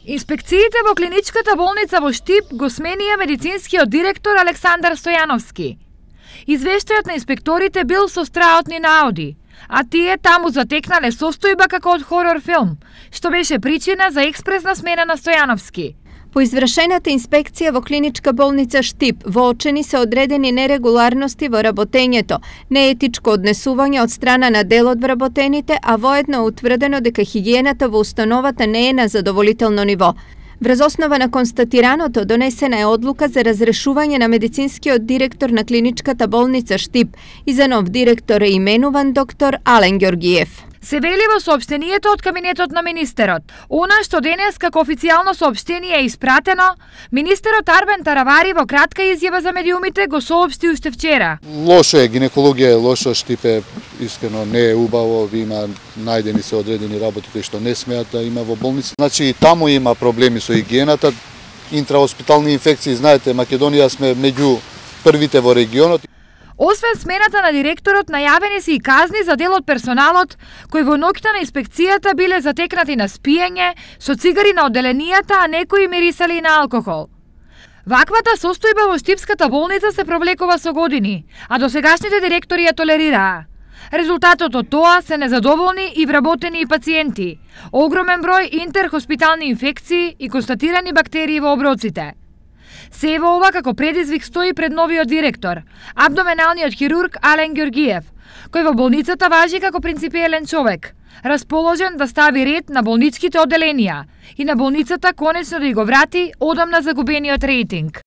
Инспекциите во клиничката болница во Штип го сменија медицинскиот директор Александар Стојановски. Извештајот на инспекторите бил со страотни наоди, а тие таму затекнале состојба како од хорор филм, што беше причина за експресна смена на Стојановски. По извршената инспекција во клиничка болница Штип воочени се одредени нерегуларности во работењето, неетичко однесување од страна на дел од вработените, а воедно утврдено дека хигиената во установата не е на задоволително ниво. Врз основа на констатираното донесена е одлука за разрешување на медицинскиот директор на клиничката болница Штип и за нов директор е именуван доктор Ален Ѓоргиев. Се вели во соопштенијето од кабинетот на министерот. Она што денес како официјално соопштение е испратено, министерот Арбен Таравари во кратка изјава за медиумите го соопшти уште вчера. Лошо е, гинекологија е лошо, Штип е искрено не е убаво, има најдени се одредени работи кои што не смеат да има во болница. Значи и таму има проблеми со хигиената, интраоспитални инфекции, знаете, Македонија сме меѓу првите во регионот. Освен смената на директорот, најавени се и казни за дел од персоналот кои во ноќта на инспекцијата биле затекнати на спиење, со цигари на одделенијата, а некои мирисали и на алкохол. Ваквата состојба во Штипската болница се провлекува со години, а досегашните директори ја толерираа. Резултатот од тоа се незадоволни и вработени и пациенти, огромен број интерхоспитални инфекции и констатирани бактерии во оброците. Се во ова како предизвик стои пред новиот директор, абдоменалниот хирург Ален Ѓоргиев, кој во болницата важи како принципиелен човек, расположен да стави ред на болничките одделенија и на болницата конечно да ја го врати одамна загубениот рейтинг.